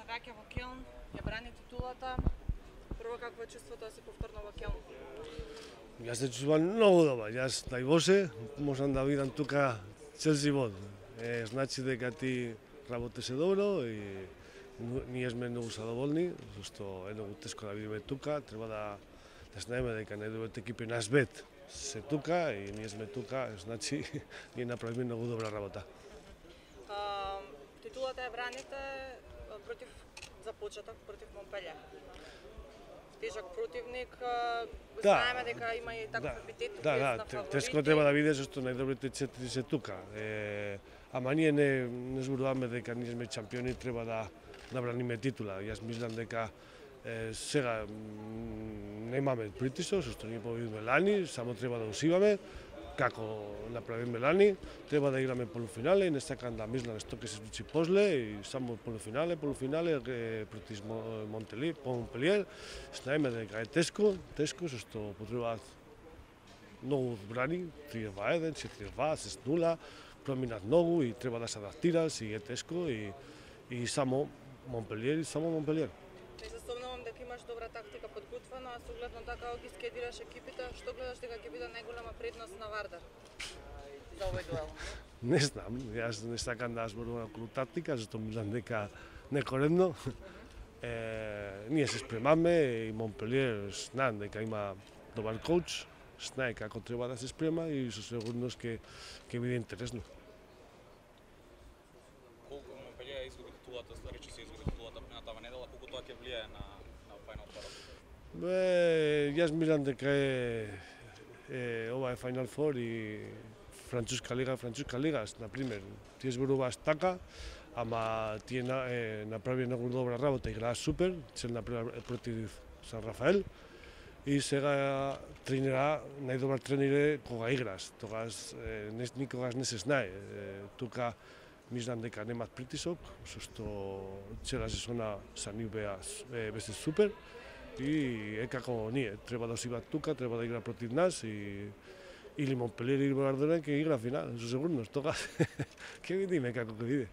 враќа во Келн, ја брани титулата. Прво, какво е чувството да си повторно во Келн? Јас се чувствувам многу добар. Јас најбоше можам да видам тука цел живот. Значи дека ти работеше добро и ние сме многу задоволни, зашто е многу тешко да видиме тука. Треба да знаеме дека најдобрите екипи на свет се тука и ние сме тука, значи ние направиме многу добра работа. Титулата ја браните против за почеток против Монпелје. Тежок противник, знаеме дека има и таков епитет на фаворити. Тешко треба да видиш што најдобрите 4 се тука. Ама ние не зборуваме дека ние сме чемпиони, треба да браниме титула. Јас мислам дека сега немаме притисок, што ние победиме лани, само треба да усиваме како направиме лани, треба да играме полуфинале и не сакам да мислам што ќе се случи после и само полуфинале против Монпелиер. Знаеме дека е тешко, што потребаат многу брани, 3-2-1, 4-2, 6-0, проминат многу и треба да се адаптираш и е тешко и само Монпелиер. Не се сомнувам дека имаш добра тактика подготвена, а согледно така ги скедираш екипите, што гледаш дека ќе биде најголема предност на Вардар за овој дуел? Не знам, јас не сакам да зборувам околу тактика, зашто мислам дека некоредно. Ние се спремаме и Монпелиер знаам дека има добар коуч, знае како треба да се спрема и со сигурност ќе биде интересно. Колку Монпелиер изгуби титулата, речи се изгуби титулата минатава недела, колку тоа ќе влијае на Final Four? Јас мислам дека ова е Final Four и Француска лига, например, тие зборуваш така, ама тие направи многу добра работа, играа супер, цел направи против Сан Рафаел и сега тренира, најдобар тренер е кога играш, тогаш никогаш не се знае. Тука мислам дека немат притисок, што цела сезона за нив беше супер и е како ние, треба да осиват тука, треба да игра против нас или Монпелиер или Вардар ќе игра финал, со сигурност, тогаш ќе видиме како ќе биде.